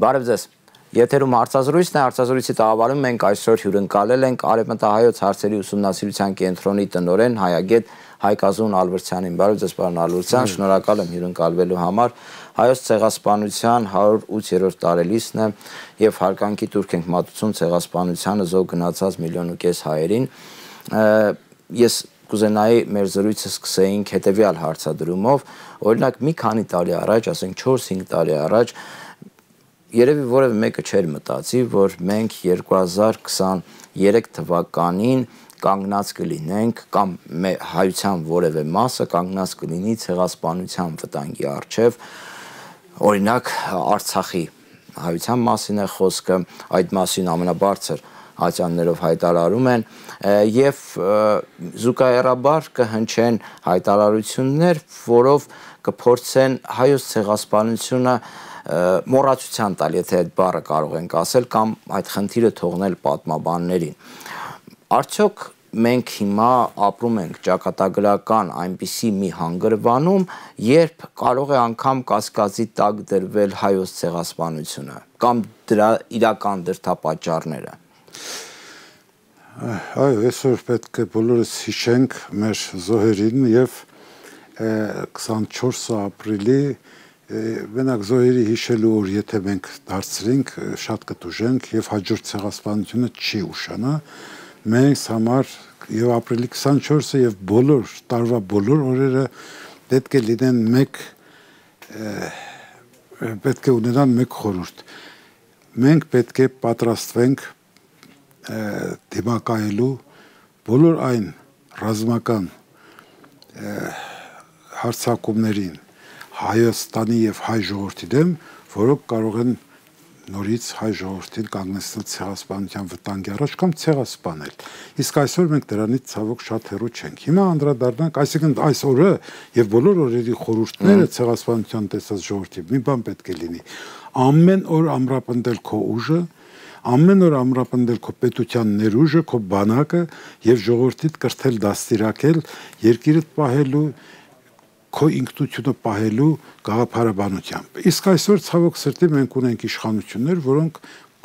Բարև ձեզ։ Եթերում հարցազրույցն է, հարցազրույցի տաղավարում մենք այսօր հյուրընկալել ենք Արևմտահայոց հարցերի ուսումնասիրության կենտրոնի տնօրեն հայագետ Հայկազուն Ալբերտյանին։ Բարև ձեզ, պարոն Ալբերտյան, շնորհակալ եմ հյուրընկալվելու համար։ Հայոց ցեղասպանության 108-րդ տարելիցն է եւ հարգանքի տուրք ենք մատուցում ցեղասպանությանը զոհ գնացած 1,5 միլիոն հայերին։ Ես կուզենայի մեր զրույցը սկսեինք հետեւյալ հարցադրումով, օրինակ մի քանի տարի առաջ, ասենք 4-5 տարի առաջ երևի որևէ մեկը չէր մտածի, որ մենք 2023 թվականին կանգնած կլինենք կամ հայության որևէ մասը կանգնած կլինի ցեղասպանության վտանգի առջև, օրինակ Արցախի հայության մասին է խոսքը, այդ մասին ամենաբարձր ատյաններով հայտարարում են եւ զուգահեռաբար կհնչեն հայտարարություններ, որով կփորձեն հայոց ցեղասպանությունը մոռացության տալ, եթե այդ բառը կարող ենք ասել, կամ այդ խնդիրը թողնել պատմաբաններին։ Արդյոք մենք հիմա ապրում ենք ճակատագրական այնպիսի մի հանգրվանում, երբ կարող է անգամ կասկածի տակ դրվել հայոց ցեղասպանությունը կամ դրա իրական դրդապատճառները։ Այո, այսօր պետք է բոլորս հիշենք մեր զոհերին եւ 24 ապրիլի Մենակ զոհերի հիշելու օր, եթե մենք դարձրինք, շատ կտուժենք եւ հաջորդ ցեղասպանությունը չի ուշանա։ Մենք համար եւ ապրիլի 24-ը եւ բոլոր տարվա բոլոր օրերը պետք է լինեն պետք է ունենան մեկ խորհուրդ։ Մենք պետք է պատրաստվենք դիմակայելու բոլոր այն ռազմական հարձակումներին Հայաստանի եւ հայ ժողովրդի դեմ, որոնք կարող են նորից հայ ժողովրդին կանգնեցնել ցեղասպանության վտանգի առաջ կամ ցեղասպանել։ Իսկ այսօր մենք դրանից ցավոք շատ հեռու չենք։ Հիմա անդրադառնանք, այսինքն այս օրը եւ բոլոր օրերի խորհուրդները ցեղասպանության տեսած ժողովրդի մի բան պետք է լինի։ Ամեն օր ամրապնդել քո ուժը, ամեն օր ամրապնդել քո պետության ներուժը, քո բանակը եւ ժողովրդիդ կրթել դաստիարակել, երկիրդ պահելու քո ինքնությունը պահելու գաղափարաբանությամբ։ Իսկ այսօր ցավոք սրտի մենք ունենք իշխանություններ, որոնք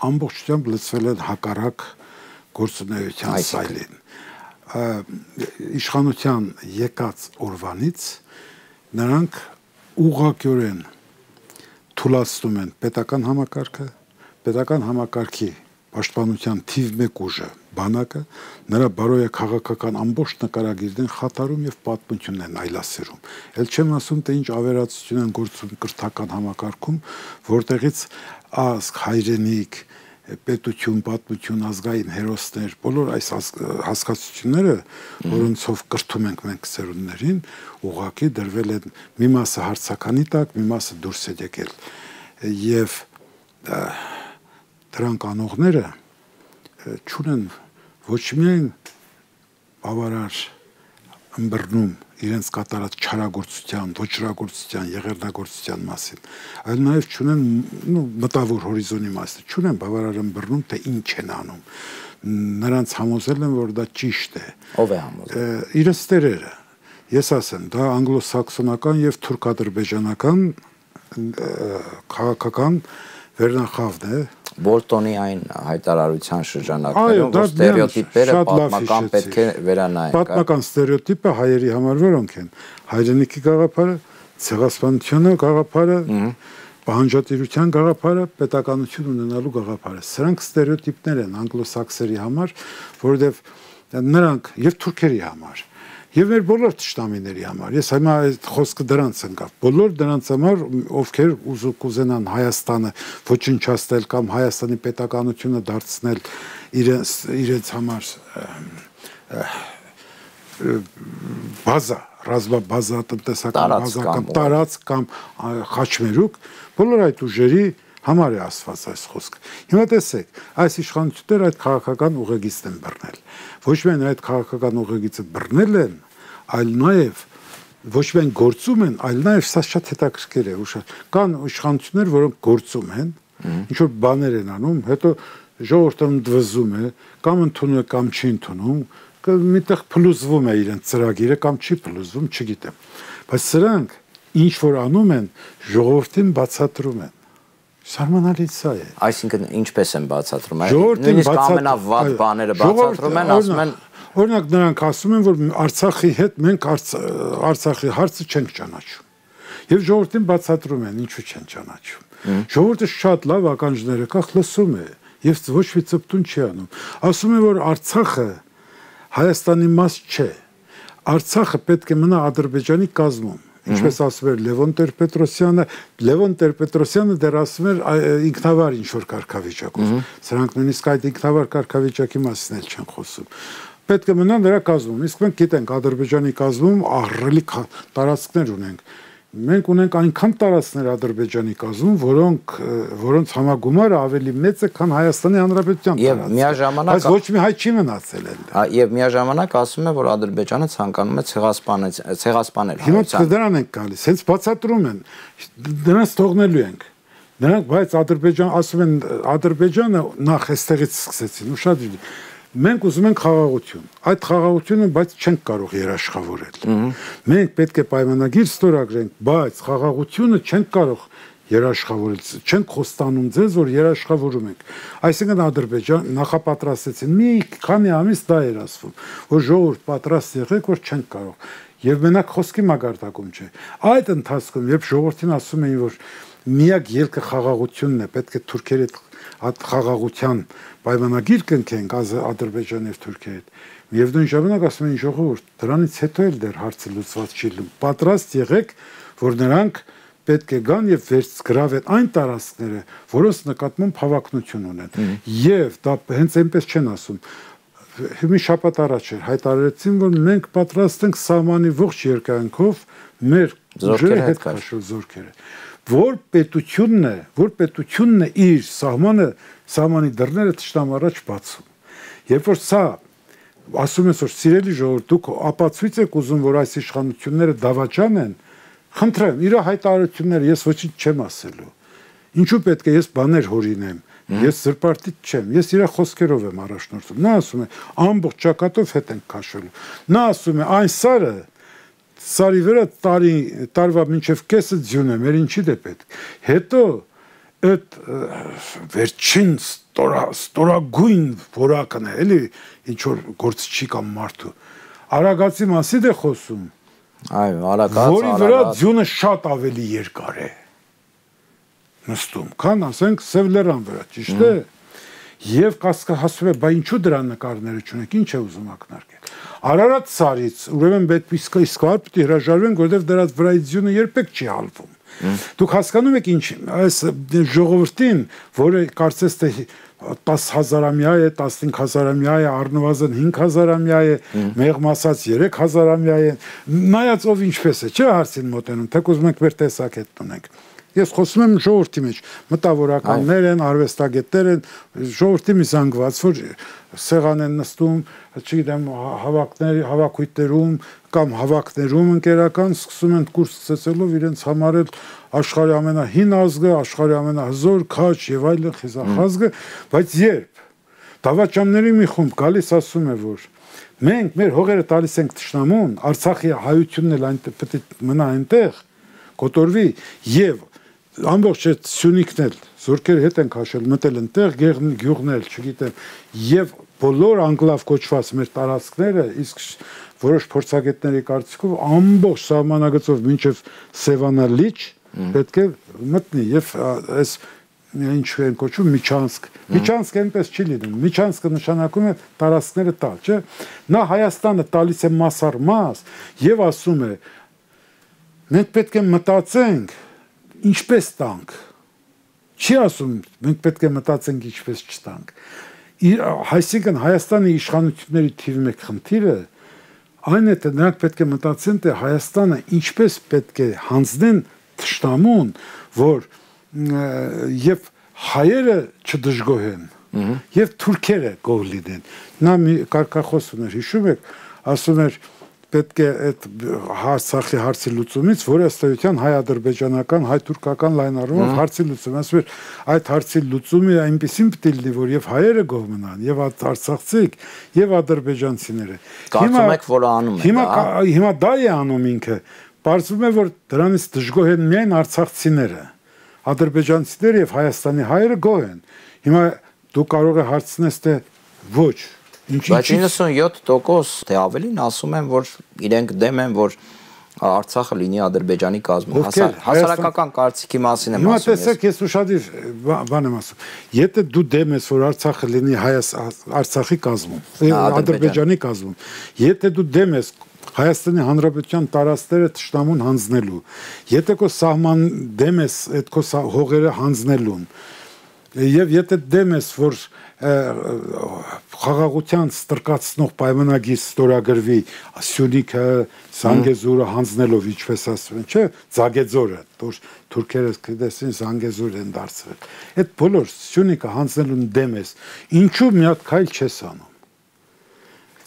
ամբողջությամբ լծվել են հակառակ գործունեության սայլին։ Իշխանության եկած օրվանից նրանք ուղղակիորեն թուլացնում են պետական համակարգի պաշտպանության թիվ 1 ուժը բանակը, նրա բարոյաքաղաքական ամբողջ նկարագիրն են խաթարում եւ պատմությունն են այլասերում։ Էլ չեմ ասում, թե ինչ ավերածություն են գործում կրթական համակարգում, որտեղից ազգ, հայրենիք, պետություն, պատմություն, ազգային հերոսներ, բոլոր այս հասկացությունները, որոնցով կրթում ենք մենք սերունդներին, ուղղակի դրվել են մի մասը հարցականի տակ, մի մասը դուրս է եկել։ Եվ դրանք անողները չունեն ոչ միայն բավարար ըմբռնում իրենց կատարած չարագործության, ոչրագործության, եղերնագործության մասին, այլ նաև չունեն մտավոր հորիզոնի մասին, չունեն բավարար ըմբռնում, թե ինչ են անում։ Նրանց համոզել են, որ դա ճիշտ է։ Ով է համոզել։ Իրենց տերերը։ Ես ասեմ, դա անգլոսաքսոնական եւ թուրքադրբեջանական քաղաքական վերնախավն է։ Բոլտոնի այն հայտարարության շրջանակներում, որ ստերեոտիպերը պատմական պետք է վերանայեն։ Պատմական ստերեոտիպը հայերի համար որոնք են։ Հայրենիքի գաղափարը, ցեղասպանությունը գաղափարը, պահանջատիրության գաղափարը, պետականություն ունենալու գաղափարը։ Սրանք ստերեոտիպներ են անգլոսաքսերի համար, որովհետև նրանք եւ թուրքերի համար եւ մեր բոլոր ճշտամիների համար։ Ես հիմա այդ խոսքը դրանց ընկավ։ Բոլոր դրանց համար, ովքեր կուզենան Հայաստանը ոչնչացնել կամ Հայաստանի պետականությունը դարձնել իրենց համար բազա, ռազմաբազա, տնտեսական բազա կամ տարածք կամ խաչմերուկ, բոլոր այդ ուժերի համար է ասված այս խոսքը։ Հիմա տեսեք, այս իշխանությունները այդ քաղաքական ուղեգիծն են բռնել։ Ոչ միայն այդ քաղաքական ուղեգիծը բռնել են, այլ նաև ոչ միայն գործում են, այլ նաև սա շատ հետաքրքիր է։ Կան իշխանություններ, որոնք գործում են, ինչ որ բաներ են անում, հետո ժողովուրդը ընդվզում է, կամ ընդունում է, կամ չի ընդունում, միտեղ փլուզվում է իրենց ծրագիրը կամ չի փլուզվում, չգիտեմ։ Բայց սրանք ինչ որ անում են, ժողովրդին բացատրում են։ Սարմանալից սա է։ Այսինքն ինչպես են բացատրում, նույնիսկ ամենավատ բաները բացատրում են, ասում են օրինակ նրանք ասում են, որ Արցախի հետ մենք Արցախի հարցը չենք ճանաչում։ Եվ ժողովրդին բացատրում են ինչու չեն ճանաչում։ Ժողովուրդը շատ լավ ականջները կախ լսում է եւ ոչ մի ծպտուն չի անում։ Ասում է, որ Արցախը Հայաստանի մաս չէ։ Արցախը պետք է մնա Ադրբեջանի կազմում։ Ինչպես ասում էր Լևոն Տեր-Պետրոսյանը դեռ ասում էր ինքնավար ինչ-որ կարգավիճակով։ Սրանք նույնիսկ այդ ինքնավար կարգավիճակի մասին էլ չեն խոսում։ Պետք է մնա նրա կազմում։ Իսկ մենք գիտենք Ադրբեջանի կազմում ահռելի տարածքներ ունենք։ Մենք ունենք այնքան տարածքներ Ադրբեջանի կազմում, որոնց համագումարը ավելի մեծ է, քան Հայաստանի Հանրապետության տարածքը։ Բայց ոչ մի հայ չի մնացել այնտեղ։ Եվ միաժամանակ ասում է, որ Ադրբեջանը ցանկանում է ցեղասպանել Հիմա դրան ենք գալիս, հենց բացատրում են, դրանց թողնելու ենք։ Նրանք բայց ասում են Ադրբեջանը նախ էստեղից սկսեցին, ու շատ մենք ուզում ենք խաղաղություն։ Այդ խաղաղությունը բայց չենք կարող երաշխավորել։ Մենք պետք է պայմանագիր ստորագրենք, բայց խաղաղությունը չենք կարող երաշխավորել։ Չենք խոստանում ձեզ, որ երաշխավորում ենք։ Այսինքն Ադրբեջան նախապատրաստեցին։ Մի քանի ամիս դա էր ասվում, որ ժողովուրդ պատրաստ եղեք, որ չենք կարող։ Եվ մենակ խոսքի մագարտակում չէ։ Այդ ընթացքում, երբ ժողովրդին ասում էին, որ միակ ելքը խաղաղությունն է, պետք է թուրքերի հետ խաղաղության պայմանագիր կնքենք Ադրբեջանի եւ Թուրքիայի հետ։ Միևնույն ժամանակ ասում են ժողովուրդ, դրանից հետո էլ դեռ հարցը լուծված չի լինում։ Պատրաստ եղեք, որ նրանք պետք է գան եւ վերցգրավեն այն տարածքները, որոնց նկատմամբ հավակնություն ունեն։ Եվ դա հենց այնպես չեն ասում։ Մի շաբաթ առաջ էր հայտարարեցին, որ մենք պատրաստ ենք սահմանի ողջ երկայնքով մեր ուժերը հետ քաշել զորքերը։ Որ պետությունն է իր սահմանի դռները թշնամու առաջ բացում։ Երբ որ սա ասում ես, որ սիրելի ժողովուրդ, դուք ապացույց եք ուզում, որ այս իշխանությունները դավաճան են, խնդրեմ, իր հայտարարությունները ես ոչինչ չեմ ասելու։ Ինչու պետք է ես բաներ հորինեմ։ Ես զրպարտիչ չեմ, ես իր խոսքերով եմ առաջնորդում։ Նա ասում է, ամբողջ ճակատով հետ ենք քաշելու։ Նա ասում է, այն սարի վրա տարվա մինչև կեսը ձյուն է, մեր ինչի դե պետք։ Հետո այդ վերջին ստորագույն որակն է, էլի ինչ որ գործ չի կամ մարդու։ Արագածի մասի դե խոսում։ Այո, արագած, որի վրա ձյունը շատ ավելի երկար է նստում, քան ասենք Սևլերան վրա, ճիշտ է։ Եվ կասկածում է, բա ինչու դրա նկարները չունեք, ինչ է ուզում ակնարկել։ Արարատ սարից, ուրեմն պետք է իսկવાર պետք է հրաժարվենք, որովհետև դրանց վրայից ձյունը երբեք չի հալվում։ Դուք հասկանում եք ինչ, այս ժողովրդին, որը կարծես թե 10,000-ամյա է, 15,000-ամյա է, առնվազն 5,000-ամյա է, մեղմ ասած 3,000-ամյա է, նայած ով ինչպես է, չէ հարցին մոտենում, թեկուզ մենք մեր տեսակետն ունենք։ Ես խոսում եմ ժողովրդի մեջ, մտավորականներ են, արվեստագետներ են, ժողովրդի մի զանգված, որ սեղան են նստում, չգիտեմ, հավաքույթներում կամ հավաքներում ընկերական սկսում են կուրս ցեցելով իրենց համարել աշխարհի ամենահին ազգը, աշխարհի ամենահզոր քաջ եւ այլն խիզախազգը, բայց երբ դավաճանների մի խումբ գալիս ասում է, որ մենք մեր հողերը տալիս ենք թշնամուն, Արցախի հայությունն էլ այնտեղ պետք է մնա այնտեղ, կոտորվի եւ ամբողջ այդ Սյունիքն էլ զորքեր հետ են քաշել, մտել այնտեղ, գյուղն էլ, չգիտեմ, եւ բոլոր անգլավ կոչված մեր տարածքները, իսկ որոշ փորձագետների կարծիքով ամբողջ սահմանագծով մինչև Սևանա լիճ պետք է մտնի եւ այս ինչ են կոչում Միչանսկ։ Միչանսկը այնպես չի լինում։ Միչանսկը նշանակում է տարածքները տալ, չէ՞։ Նա Հայաստանը տալիս է մաս առ մաս եւ ասում է մենք պետք է մտածենք ինչպես տանք։ Չի ասում մենք պետք է մտածենք ինչպես չտանք։ Այսինքն Հայաստանի իշխանությունների թիվ 1 խնդիրը այն է, թե նրանք պետք է մտածեն, թե Հայաստանը ինչպես պետք է հանձնեն թշնամուն, որ եւ հայերը չդժգոհեն, եւ թուրքերը գոհ լինեն։ Նա մի կարգախոս ուներ, հիշում եք, ասում էր պետք է այդ Արցախի հարցի լուծումից, որը ըստ էության հայ-ադրբեջանական, հայ-թուրքական լայնառումով հարցի լուծում, ասում էր այդ հարցի լուծումը այնպեսին պետք է լինի, որ եւ հայերը գոհ մնան, եւ արցախցիք, եւ ադրբեջանցիները։ Կարծում եք, որ անում է դա։ Հիմա դա է անում ինքը։ Պարզվում է, որ դրանից դժգոհ են միայն արցախցիները։ ադրբեջանցիները եւ Հայաստանի հայերը գոհ են։ Հիմա դու կարող ես հարցնես թե ոչ, բայց 97% թե ավելին ասում են, որ իրենք դեմ են, որ Արցախը լինի Ադրբեջանի կազմում, հասարակական կարծիքի մասին եմ ասում։ Հիմա տեսեք, ես ուշադիր բան եմ ասում։ Եթե դու դեմ ես, որ Արցախը լինի Արցախի կազմում, Ադրբեջանի կազմում, եթե դու դեմ ես Հայաստանի Հանրապետության տարածքները թշնամուն հանձնելու, եթե քո սահման դեմ ես այդ քո հողերը հանձնելուն, եւ եթե դեմ ես, որ խաղաղության ստրկացնող պայմանագիր ստորագրվի Սյունիքը, Զանգեզուրը հանձնելով, ինչպես ասում են, չէ, Զագեձորը, որ թուրքերը կտեսին Զանգեզուր են դարձրել։ Այդ բոլոր Սյունիքը հանձնելուն դեմ ես, ինչու մի հատ քայլ չես անում։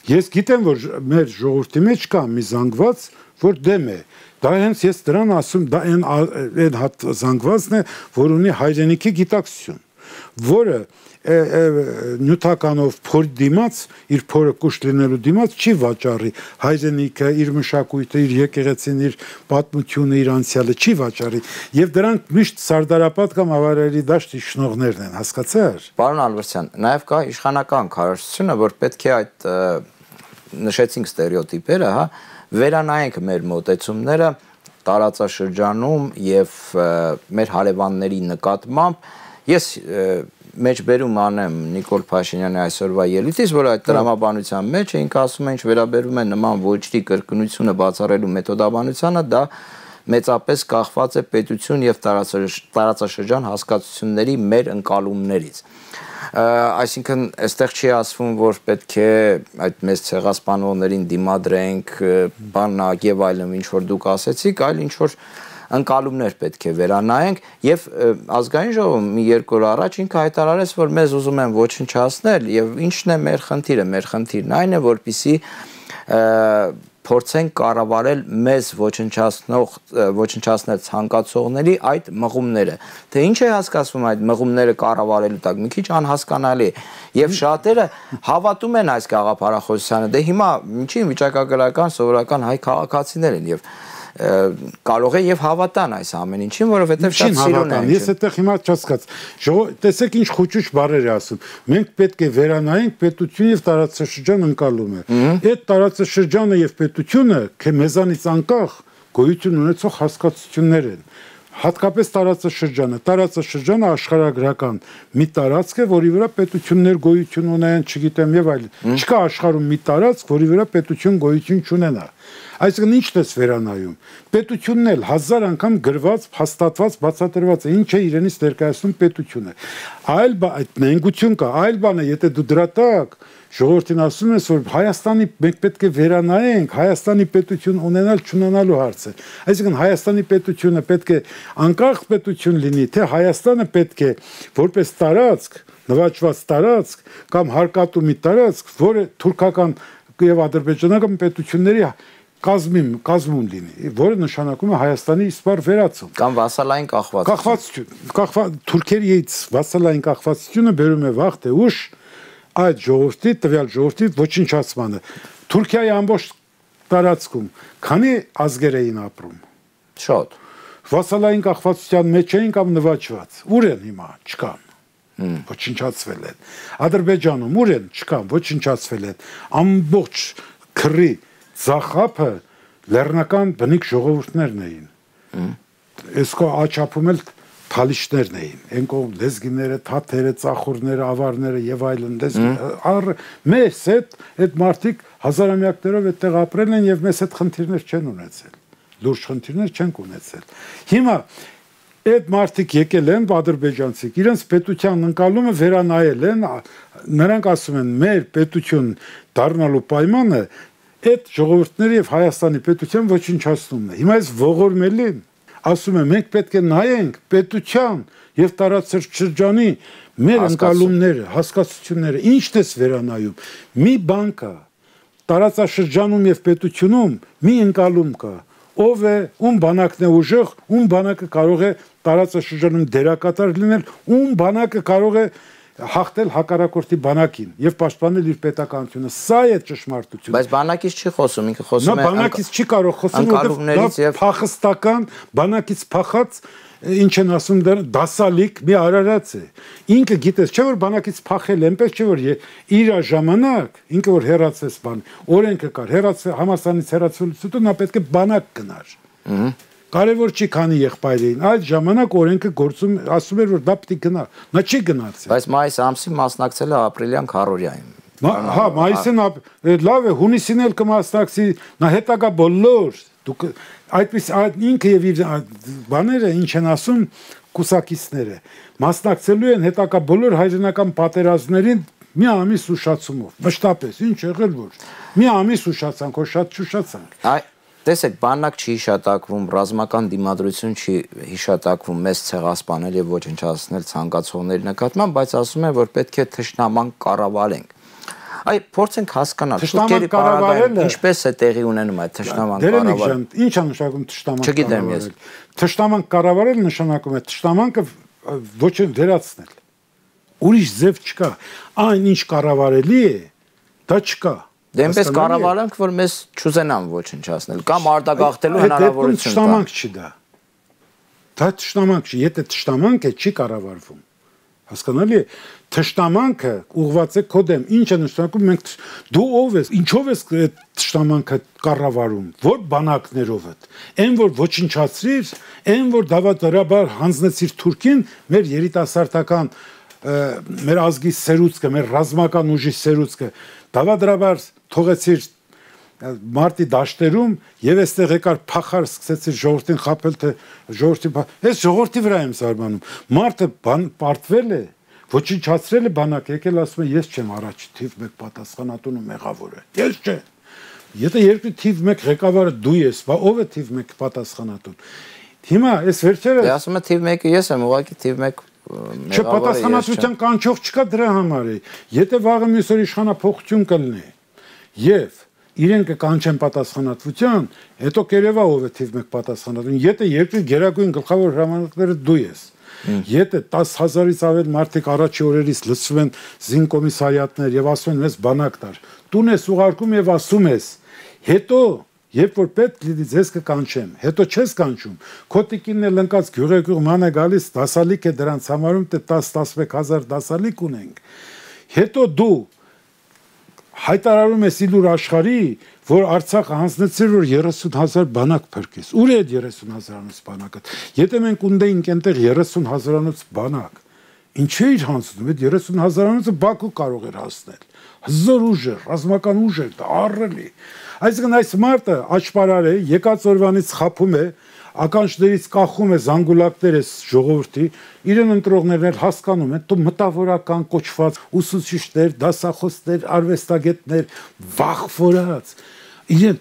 Ես գիտեմ, որ մեր ժողովրդի մեջ կա մի զանգված, որ դեմ է։ Դա հենց ես դրան ասում, դա այն հատ զանգվածն է, որ ունի հայրենիքի գիտակցություն, որը նյութականով փորի դիմաց, իր փորը կուշ լինելու դիմաց չի վաճառի հայրենիքը, իր մշակույթը, իր եկեղեցին, իր պատմությունը, իր անցյալը չի վաճառի, եւ դրանք միշտ սարդարապատ կամ ավարերի դաշտի շնորհներն են, հասկացա՞ր։ Պարոն Ալվերդյան, նաեւ կա իշխանական քարոզությունը, որ պետք է այդ նշեցինք ստերեոտիպերը, հա, վերանայենք մեր մոտեցումները տարածաշրջանում եւ մեր հարևանների նկատմամբ։ Ես մեջբերում անեմ Նիկոլ Փաշինյանի այսօրվա ելույթից, որ այդ տրամաբանության մեջ է, ինքը ասում է, ինչ վերաբերում է նման ոչրի կրկնությունը բացառելու մեթոդաբանությանը, դա մեծապես կախված է պետություն եւ տարածաշրջան հասկացությունների մեր ընկալումներից։ Այսինքն այստեղ չի ասվում, որ պետք է այդ մեծ ցեղասպանողներին դիմադրենք, բանակ եւ այլն, ինչ որ դուք ասեցիք, այլ ինչ որ ընկալումներ պետք է վերանայենք եւ ազգային ժողովում մի երկու օր առաջ ինքը հայտարարեց, որ մեզ ուզում են ոչնչացնել եւ ինչն է մեր խնդիրը, մեր խնդիրն այն է, որպեսզի փորձենք կառավարել մեզ ոչնչացնել ցանկացողների այդ մղումները։ Թե ինչ է հասկացվում այդ մղումները կառավարելու տակ, մի քիչ անհասկանալի է։ Եվ շատերը հավատում են այս գաղափարախոսությանը։ Դե հիմա ինչի վիճակագրական սովորական հայ քաղաքացիներ են եւ կարող է եւ հավատան այս ամեն ինչին, որովհետեւ շատ սիրուն են։ Ես այդտեղ հիմա չհասկաց։ Տեսեք ինչ խոճուճ բառեր է ասում։ Մենք պետք է վերանայենք պետություն եւ տարածաշրջան ընկալումը։ Այդ տարածաշրջանը եւ պետությունը մեզանից անկախ գոյություն ունեցող հասկացություններ են։ Հատկապես տարածաշրջանը աշխարհագրական մի տարածք է, որի վրա պետություններ գոյություն ունեն, չգիտեմ եւ այլն։ Չկա աշխարհում մի տարածք, որի վրա պետություն գոյություն չունենա։ Այսինքն ինչ դες վերանայում։ Պետությունն էլ 1000 անգամ գրված, փաստատված, բացատրված է, ինչ է իրենից ներկայացնում պետությունը։ Այլ այդ նենգություն կա, այլ բան է, եթե դու դրա տակ ժողովրդին ասում ես, որ Հայաստանի մենք պետք է վերանայենք, Հայաստանի պետություն ունենալ չունենալու հարցը։ Այսինքն Հայաստանի պետությունը պետք է անկախ պետություն լինի, թե Հայաստանը պետք է որպես տարածք, նվաճված տարածք կամ հարկատու մի տարածք, որը թուրքական եւ ադրբեջանական պետությունների կազմում լինի, որը նշանակում է Հայաստանի իսպար վերացում կամ վասալային կախվածություն։ Թուրքերից վասալային կախվածությունը բերում է վաղ թե ուշ այդ ժողովրդի, տվյալ ժողովրդի ոչնչացմանը։ Թուրքիայի ամբողջ տարածքում քանի ազգեր էին ապրում։ Շատ։ Վասալային կախվածության մեջ էին կամ նվաճված։ Ուր են հիմա, չկան։ Ոչնչացվել են։ Ադրբեջանում ուր են, չկան, ոչնչացվել են։ Ամբողջ քրի Զախապը լեռնական բնիկ ժողովուրդներն էին։ Այսքո աչափում էլ թալիշներն էին։ Այն կողմ լեզգիները, թաթերը, ծախուրները, ավարները եւ այլն մեզ այդ մարդիկ հազարամյակներով այդտեղ ապրել են եւ մեզ այդ խնդիրներ չեն ունեցել։ Լուրջ խնդիրներ չենք ունեցել։ Հիմա այդ մարդիկ եկել են ադրբեջանցիք, իրենց պետության ընկալումը վերանայել են, նրանք ասում են մեր պետություն դառնալու պայմանը այդ ժողովուրդների եւ Հայաստանի պետության ոչնչացումն է։ Հիմա այս ողորմելին ասում է մենք պետք է նայենք պետության եւ տարածաշրջանի մեր ընկալումները, հասկացությունները, ինչն է վերանայում։ Մի բան կա տարածաշրջանում եւ պետությունում մի ընկալում կա, ով է, ում բանակն է ուժեղ, ում բանակը կարող է տարածաշրջանում դերակատար լինել, ում բանակը կարող է հաղթել հակառակորդի բանակին եւ պաշտպանել իր պետականությունը։ Սա է ճշմարտությունը։ Բայց բանակից չի խոսում, ինքը խոսում է բանակից չի կարող խոսել, որովհետեւ փախստական բանակից փախած ինչ են ասում դասալիկ մի արարած է։ Ինքը գիտես, չէ որ բանակից փախել, այնպես չէ որ իր ժամանակ ինքը որ հերացես բան, օրենքը կար, համալսարանից հերացվելուց նա պետք է բանակ գնար։ Կարևոր չի քանի եղբայրին, այդ ժամանակ օրենքը գործում ասում էր որ դա պետք է գնա, նա չի գնացել։ Բայց մայիս ամսին մասնակցել է ապրիլյան քարորիային։ Հա, մայիսին լավ է, հունիսին էլ կմասնակցի, նա հետագա բոլոր դուք այդպես ինքը եւ իր բաները ինչ են ասում կուսակիցները մասնակցելու են հետագա բոլոր հայրենական պատերազմներին մի ամիս ուշացումով մշտապես ինչ եղել որ մի ամիս ուշացանք որ շատ շուշացանք տեսեք բանակ չի հիշատակվում ռազմական դիմադրություն չի հիշատակվում մեծ ցեղասպանել եւ ոչնչացնել ցանկացողների նկատմամբ բայց ասում են որ պետք է թշնաման կառավարենք Այ փորձենք հասկանալ թշնաման կառավարելը ինչպես է տեղի ունենում այդ թշնաման կառավարելը Ինչ է նշանակում թշնաման Չգիտեմ ես Թշնաման կառավարելը նշանակում է թշնամանքը ոչ են վերացնել Ուրիշ ձև չկա այն ինչ կառավարելի է դա չկա Դե այնպես կառավարենք որ մեզ չուզենան ոչնչացնել կամ արտագաղթելու հնարավորություն կա Թշնամանք չի դա թշնամանք չի եթե թշնամանք է չի կառավարվում Հասկանալի է Թշնամանքը ուղղված է քո դեմ ինչ է նշանակում մենք դու ով ես ինչով ես թշնամանքը կառավարում որ բանակներով է այն որ ոչնչացրիր այն որ դավադրաբար հանձնեցիր Թուրքին մեր երիտասարդական մեր ազգի սերուցքը մեր ռազմական ուժի սերուցքը դավադրաբար թողեցիր մարտի դաշտերում եւ այստեղ եկար փախար սկսեցիր ժողովրդին խաբել թե ժողովրդի այս ժողովրդի վրա եմ զարմանում մարտը պարտվել է ոչնչացրել է բանակ եկել ասում է ես չեմ առաջ թիվ 1 պատասխանատուն ու մեղավորը ես չեմ եթե երկրի թիվ 1 ղեկավարը դու ես բա ով է թիվ 1 պատասխանատուն հիմա այս վերջերը Դե ասում է թիվ 1-ը ես եմ ուղղակի թիվ 1 Չպատասխանատվության կանչող չկա դրա համար է եթե վաղը մյուս օր իշխանափոխություն կլինի եւ իրենք կանչեն պատասխանատվության, հետո կերևա ով է թիվ 1 պատասխանատուն, եթե երկրի գերագույն գլխավոր հրամանատարը դու ես։ Եթե 10,000-ից ավել մարդիկ առաջի օրերից լցվում են զինկոմիսարիատներ եւ ասում են մեզ բանակ տար։ Տուն ես ուղարկում եւ ասում ես, հետո երբ որ պետք լինի ձեզ կկանչեմ, հետո չես կանչում։ Քո տիկինն էլ ընկած գյուղեգյուղ ման է գալիս, դասալիկ է դրանց համարում, թե 10-11,000 դասալիկ ունենք։ Հետո դու հայտարարում ես իլուր աշխարհի, որ Արցախը հանձնեցիր որ 30,000 բանակ փրկես։ Ուր է 30,000-անոց բանակը։ Եթե մենք ունեինք այնտեղ 30,000-անոց բանակ, ինչի՞ էր հանձնում։ Այդ 30,000-անոցը Բաքու կարող էր հասնել։ Հզոր ուժ է, ռազմական ուժ է, դա ահռելի։ Այսինքն այս մարտը աճպարար է, եկած օրվանից խափում է, ականջներից կախում է զանգուլակներ է ժողովրդի, իրեն ընտրողներն էլ հասկանում են, դու մտավորական կոչված ուսուցիչներ, դասախոսներ, արվեստագետներ, վախվորած, իրեն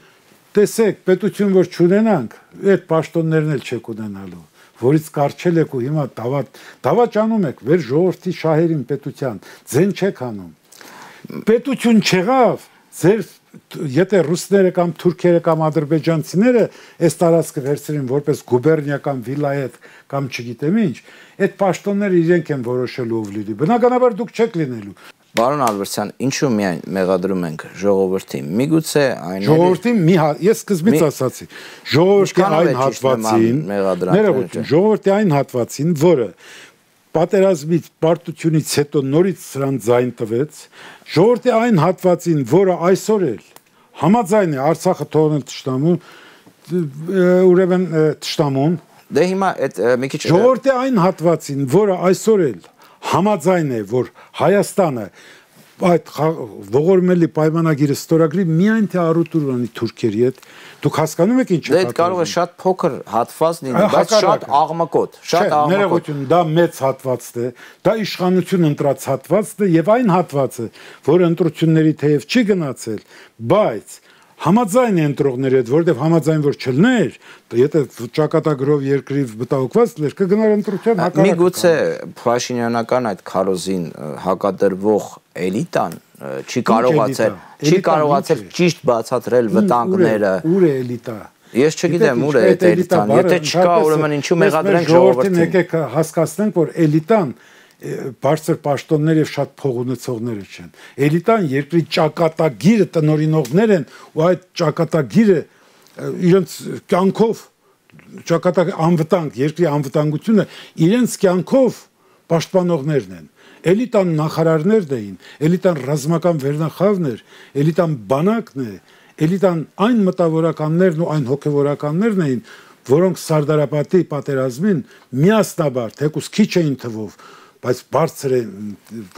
տեսեք, պետություն որ չունենանք, այդ պաշտոններն էլ չեք ունենալու, որից կարճել եք ու հիմա դավաճանում եք վեր ժողովրդի շահերին պետության, ձեն չեք անում, պետություն չեղավ, ձեր Եթե ռուսները կամ թուրքերը կամ ադրբեջանցիները այս տարածքը վերցրին որպես գուբերնիա կամ վիլայետ կամ չգիտեմ ինչ, այդ պաշտոնները իրենք են որոշելու ով լինի։ Բնականաբար դուք չեք լինելու։ Պարոն Ալբերտյան, ինչու միայն մեղադրում ենք ժողովրդին։ Միգուցե այն Ժողովրդին ես սկզբից ասացի, ժողովրդի այն հատվածին, ժողովրդի այն հատվածին, որը պատերազմից պարտությունից հետո նորից սրան ձայն տվեց ժողովրդի այն հատվածին որը այսօր էլ համաձայն է Արցախը թողնել թշնամուն ուրեմն թշնամուն դե հիմա այդ մի քիչ ժողովրդի այն հատվածին որը այսօր էլ համաձայն է որ Հայաստանը այդ ողորմելի պայմանագիրը ստորագրի միայն թե առուտուր ունի թուրքերի հետ դուք հասկանում եք ինչ է դա կարող է շատ փոքր հատված լինի բայց շատ աղմկոտ ներողություն դա մեծ հատվածն է դա իշխանություն ընտրած հատվածն է եւ այն հատվածը որը ընտրությունների թեև չի գնացել բայց համաձայն է ընտրողների հետ որովհետեւ համաձայն որ չլներ եթե ճակատագրով երկրի մտահոգված լեր կգնար ընտրության հակառակը միգուցե Փաշինյանական այդ քարոզին հակադրվող էլիտան չի կարողացել ճիշտ բացատրել վտանգները ուր է էլիտա ես չգիտեմ ուր է այդ էլիտան եթե չկա ուրեմն ինչու մեղադրենք ժողովրդին եկեք հասկացնենք որ էլիտան բարձր պաշտոններ եւ շատ փող ունեցողներ չեն էլիտան երկրի ճակատագիրը տնօրինողներ են ու այդ ճակատագիրը իրենց կյանքով ճակատագրի անվտանգ, երկրի անվտանգությունը իրենց կյանքով պաշտպանողներն են։ Էլիտան նախարարներն էին, էլիտան ռազմական վերնախավն էր, էլիտան բանակն է, էլիտան այն մտավորականներն ու այն հոգևորականներն էին, որոնք Սարդարապետի պատերազմին միասնաբար, թեկուզ քիչ էին թվով, բայց բարձր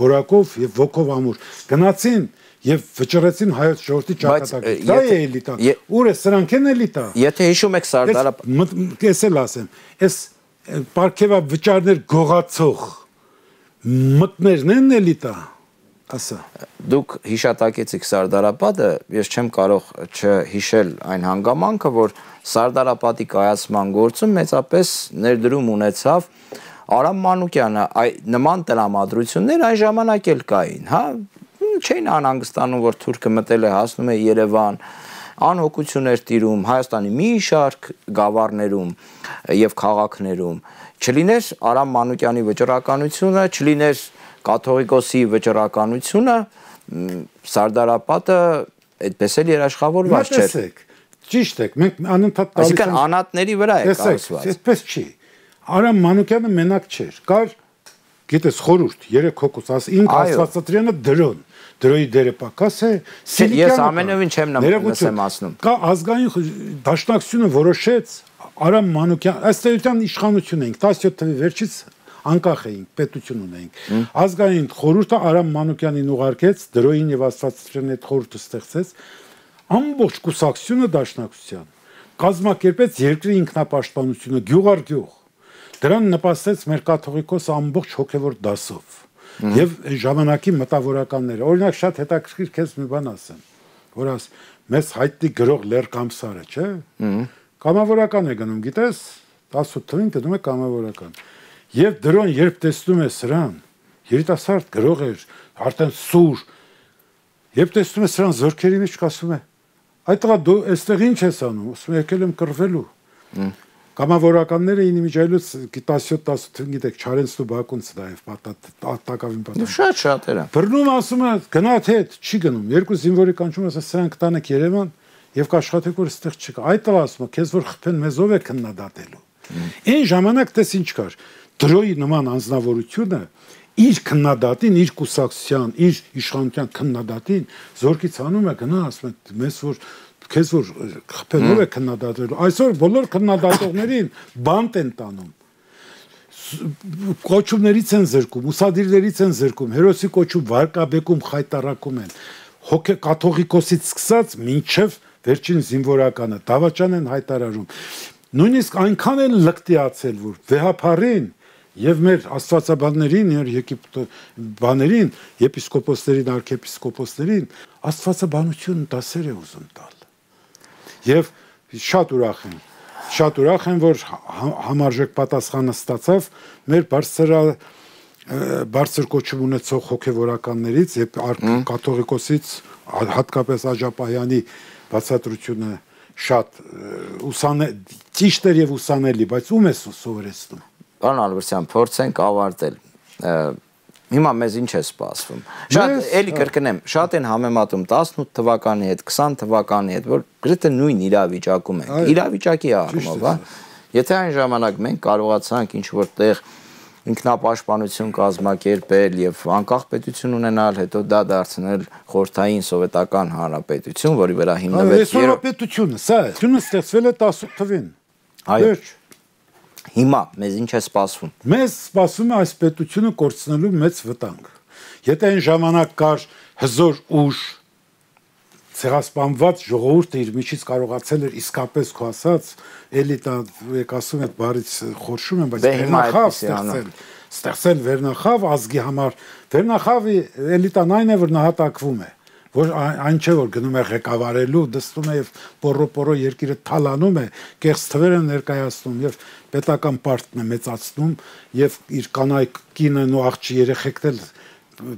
որակով եւ ոգով ամուր գնացին եւ վճռեցին հայոց ժողովրդի ճակատագրին։ Դա է էլիտան։ Ուր է սրանք են էլիտա։ Եթե հիշում եք Սարդարապետը, ես էլ ասեմ, այս պարգևա վճարներ գողացող մտներն են էլիտա, ասա։ Դուք հիշատակեցիք Սարդարապետը, ես չեմ կարող չհիշել այն հանգամանքը, որ Սարդարապետի կայացման գործում մեծապես ներդրում ունեցավ Արամ Մանուկյանը, նման տրամադրություններ այն ժամանակ էլ կային, հա, չէին անհանգստանում, որ թուրքը մտել է, հասնում է Երևան, անհոգություն էր տիրում Հայաստանի մի շարք գավառներում եւ քաղաքներում, չլիներ Արամ Մանուկյանի վճռականությունը, չլիներ կաթողիկոսի վճռականությունը, Սարդարապետը այդպես էլ երաշխավորված չէր։ Տեսեք, ճիշտ եք, մենք անընդհատ տալիս ենք։ Այսինքն անատների վրա է կառուցված։ Այդպես չի։ Արամ Մանուկյանը մենակ չէր, կար, գիտես, խորհուրդ, 3 հոգուց, ինք Աստվածատրյանը դրոյի դերը պակաս է, ես ամենևին չեմ նսեմացնում։ Կա ազգային դաշնակցությունը որոշեց Արամ Մանուկյան, ըստ էության իշխանություն էինք, 17 թվականի վերջից անկախ էինք, պետություն ունեինք։ Ազգային խորհուրդը Արամ Մանուկյանին ուղարկեց, դրոյին եւ Աստվածատրյանի հետ խորհուրդը ստեղծեց, ամբողջ կուսակցությունը դաշնակցության կազմակերպեց երկրի ինքնապաշտպանությունը գյուղ առ գյուղ։ Դրան նպաստեց մեր կաթողիկոս ամբողջ հոգևոր դասով եւ ժամանակի մտավորականները։ Օրինակ շատ հետաքրքիր քեզ մի բան ասեմ, որ մեզ հայտնի գրող Լեր Կամսարը, չէ՞։ Կամավորական է գնում, գիտես, 18 թվականին գնում է կամավորական։ Եվ դրոն երբ տեսնում է սրան, երիտասարդ գրող էր, արդեն սուր, երբ տեսնում է սրան զորքերի մեջ ասում է. «Այդ տղա դու այստեղ ինչ ես անում»։ Ասում է եկել եմ կռվելու։ Կամավորականները ինիմիջայլուց 17-18 գիտեք Չարենցն ու Բակունցը դա եւ տակավին պատահ։ Շատ էր։ Բռնում ասում է գնաց հետ, չի գնում։ Երկու զինվորի կանչում ասա սրանք տանեք Երևան եւ կաշխատեք որ այստեղ չկա։ Այդ տղա ասում է քեզ որ խփեն մեզ ով է քննադատելու։ Այն ժամանակ տես ինչ կար։ Դրոյի նման անձնավորությունը իր քննադատին, իր կուսակցության, իր իշխանության քննադատին զորքից անում է գնա ասում է մեզ որ քեզ որ խփելով է քննադատելու։ Այսօր բոլոր քննադատողներին բանտ են տանում։ Կոչումներից են զրկում, ուսադիրներից են զրկում, հերոսի կոչում վարկաբեկում, խայտարակում են։ Հոգե կաթողիկոսից սկսած մինչև վերջին զինվորականը դավաճան են հայտարարում։ Նույնիսկ այնքան են լկտիացել, որ վեհապարին եւ մեր աստվածաբաններին, Եգիպտո բաներին, եպիսկոպոսներին, արքեպիսկոպոսներին աստվածաբանություն դասեր է ուզում տալ։ Եվ շատ ուրախ եմ, որ համարժեք պատասխանը ստացավ մեր բարձր կոչում ունեցող հոգևորականներից եւ կաթողիկոսից հատկապես Աջապահյանի բացատրությունը շատ ճիշտ էր եւ ուսանելի, բայց ում է սովորեցնում։ Պարոն Ալբերտյան, փորձենք ավարտել։ Հիմա մեզ ինչ է սպասվում։ Շատ էլի կրկնեմ, շատ են համեմատում 18 թվականի հետ, 20 թվականի հետ, որ գրեթե նույն իրավիճակում ենք։ Իրավիճակի առումով, հա։ Եթե այն ժամանակ մենք կարողացանք ինչ-որ տեղ ինքնապաշտպանություն կազմակերպել եւ անկախ պետություն ունենալ, հետո դա դարձնել խորհրդային սովետական հանրապետություն, որի վրա հիմնվեց Հանրապետությունը, սա է։ Դու ստեղծվել է 18 թվականին։ Այո։ Հիմա մեզ ինչ է սպասվում։ Մեզ սպասվում է այս պետությունը կորցնելու մեծ վտանգ։ Եթե այն ժամանակ կար հզոր ուժ, ցեղասպանված ժողովուրդը իր միջից կարողացել էր իսկապես քո ասած էլիտա, եք ասում եք բարից խորշում են, բայց վերնախավ ստեղծել վերնախավ ազգի համար։ Վերնախավի էլիտան այն է, որ նահատակվում է, որ այն չէ որ գնում է ղեկավարելու, դստում է եւ պորո երկիրը թալանում է, կեղծ թվեր են ներկայացնում եւ պետական պարտն է մեծացնում եւ իր կանայք կինն ու աղջի երեխեքն էլ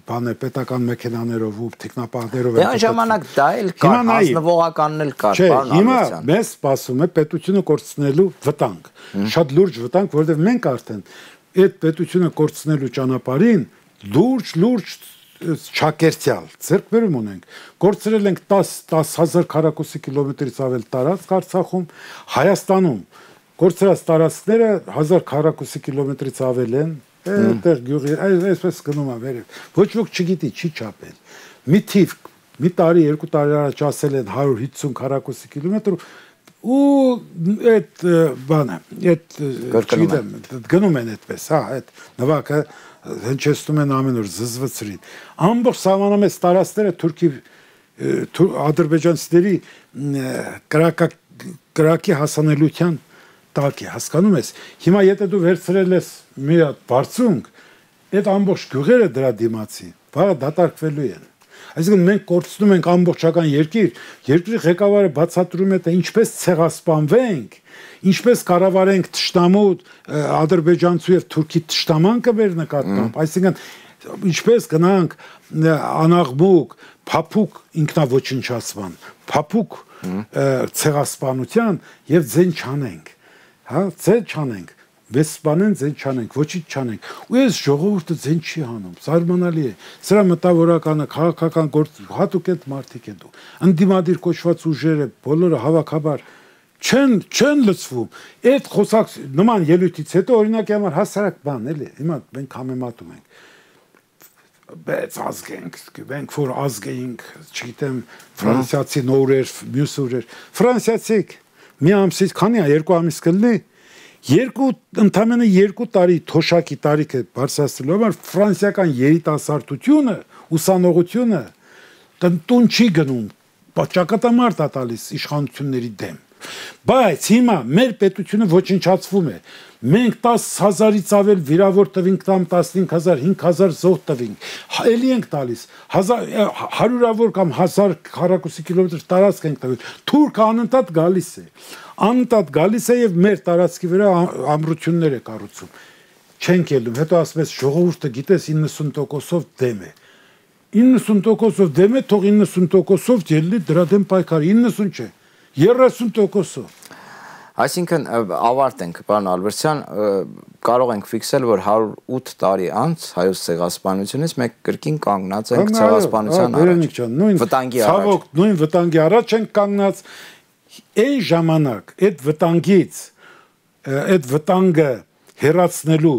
բանը պետական մեքենաներով ու տեխնապահներով են։ Դե ժամանակ դա էլ կար, ազնվողականն էլ կար, պարոն Ալբերտյան։ Հիմա մեզ սպասում է պետությունը կորցնելու վտանգ, շատ լուրջ վտանգ, որովհետեւ մենք արդեն այդ պետությունը կորցնելու ճանապարհին լուրջ չակերտյալ ձեռքբերում ունենք։ Կորցրել ենք 10,000 քառակուսի կիլոմետրից ավել տարածք Արցախում, Հայաստանում կորցրած տարածքները 1000 քառակուսի կիլոմետրից ավել են, այդտեղ գյուղի, այսպես գնում է վերև։ Ոչ ոք չգիտի, չի չափել։ Մի թիվ, մի տարի, երկու տարի առաջ ասել են 150 քառակուսի կիլոմետր ու այդ բանը, այդ չգիտեմ, գնում են այդպես, հա, այդ նվակը հնչեցնում են ամեն օր զզվցրին։ Ամբողջ սահմանամեծ տարածքները Թուրքի ադրբեջանցիների կրակի հասանելիության տակ է, հասկանում ես։ Հիմա եթե դու վերցրել ես մի հատ բարձունք, այդ ամբողջ գյուղերը դրա դիմացի, վաղը դատարկվելու են։ Այսինքն մենք կորցնում ենք ամբողջական երկիր, երկրի ղեկավարը բացատրում է, թե ինչպես ցեղասպանվենք, ինչպես կառավարենք թշնամու ադրբեջանցու եւ թուրքի թշնամանքը մեր նկատմամբ, այսինքն ինչպես գնանք անաղմուկ, փափուկ ինքնաոչնչացման, փափուկ ցեղասպանության եւ ձեն չանենք, հա, ձեն չանենք, վեսպանեն ձեն չանենք, ոչինչ չանենք։ Ու այս ժողովուրդը ձեն չի հանում, զարմանալի է։ Սրա մտավորականը քաղաքական գործ հատուկ այդ մարդիկ են դու։ Անդիմադիր կոչված ուժերը բոլորը հավաքաբար չեն լծվում։ Այդ խոսակ նման ելույթից հետո օրինակի համար հասարակ բան էլի։ Հիմա մենք համեմատում ենք։ Բայց ազգենք, մենք որ ազգենք, չգիտեմ, ֆրանսիացի նորեր, մյուս օրեր։ Ֆրանսիացիք մի ամսից քանի է, 2 ամիս կլինի։ Ընդամենը 2 տարի թոշակի տարիքը բարձրացնելու համար ֆրանսիական երիտասարդությունը, ուսանողությունը տուն չի գնում, ճակատամարտ է տալիս իշխանությունների դեմ։ Բայց հիմա մեր պետությունը ոչնչացվում է։ Մենք 10,000-ից ավել վիրավոր տվինք, կամ 15,000, 5,000 զոհ տվինք։ Էլի ենք տալիս 100-ավոր կամ 1000 քառակուսի կիլոմետր տարածք ենք տվել։ Թուրքը անընդհատ գալիս է։ Անընդհատ գալիս է եւ մեր տարածքի վրա ամրություններ է կառուցում։ Չենք ելնում։ Հետո ասում ես ժողովուրդը գիտես 90%-ով դեմ է։ 90%-ով դեմ է, թող 90%-ով ելնի դրա դեմ պայքար, 90 չէ, 30%-ով։ Այսինքն ավարտենք, պարոն Ալբերտյան, կարող ենք ֆիքսել, որ 108 տարի անց հայոց ցեղասպանությունից մենք կրկին կանգնած ենք ցեղասպանության առաջ։ Վտանգի առաջ։ Ցավոք, նույն վտանգի առաջ ենք կանգնած։ Այն ժամանակ այդ վտանգից, այդ վտանգը հեռացնելու,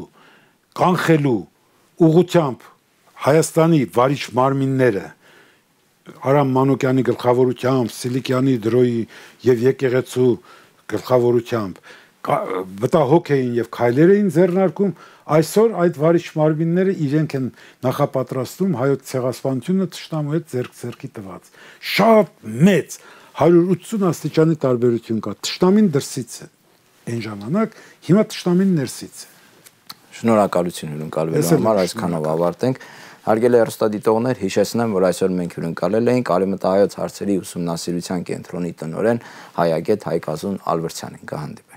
կանխելու ուղղությամբ Հայաստանի վարիչ մարմինները Արամ Մանուկյանի գլխավորությամբ, Սիլիկյանի դրոյի եւ եկեղեցու գլխավորությամբ մտահոգ էին եւ քայլեր էին ձեռնարկում, այսօր այդ վարիչ մարմինները իրենք են նախապատրաստում հայոց ցեղասպանությունը թշնամու հետ ձեռք-ձեռքի տված։ Շատ մեծ 180 աստիճանի տարբերություն կա։ Թշնամին դրսից է այն ժամանակ, հիմա թշնամին ներսից է։ Շնորհակալություն հյուրընկալվելու համար, այսքանով ավարտենք։ Հարգելի հեռուստադիտողներ, հիշեցնեմ, որ այսօր մենք հյուրընկալել էինք արևմտահայոց հարցերի ուսումնասիրության կենտրոնի տնօրեն հայագետ Հայկազուն Ալբերտյանին։ Կհանդիպենք։